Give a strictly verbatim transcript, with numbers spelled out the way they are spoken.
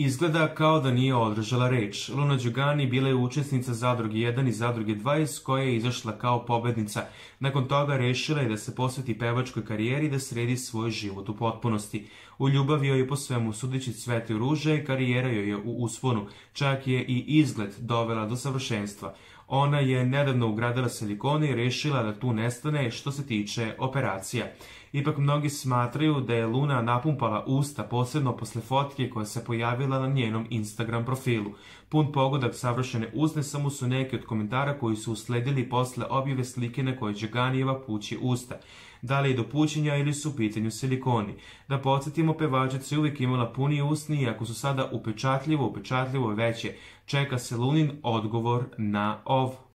Izgleda kao da nije održala reč. Luna Đugani bila je učesnica Zadruge jedan i Zadruge dva iz koje je izašla kao pobednica. Nakon toga rešila je da se posveti pevačkoj karijeri i da sredi svoj život u potpunosti. U ljubavi joj je po svemu sudeći cvetaju ruže i karijera joj je u usponu. Čak je i izgled dovela do savršenstva. Ona je nedavno ugradila silikone i rešila da tu nestane što se tiče operacija. Ipak mnogi smatraju da je Luna napumpala usta, posebno posle fotke koja se pojavila na njenom Instagram profilu. Pun pogodak savršene usne samo su neki od komentara koji su usledili posle objave slike na kojoj Đuganijeva pući usta. Da li je do pućenja ili su u pitanju silikoni? Da podsjetimo, pevačica je uvijek imala puni usni i ako su sada upečatljivo, upečatljivo veće, čeka se Lunin odgovor na ovo.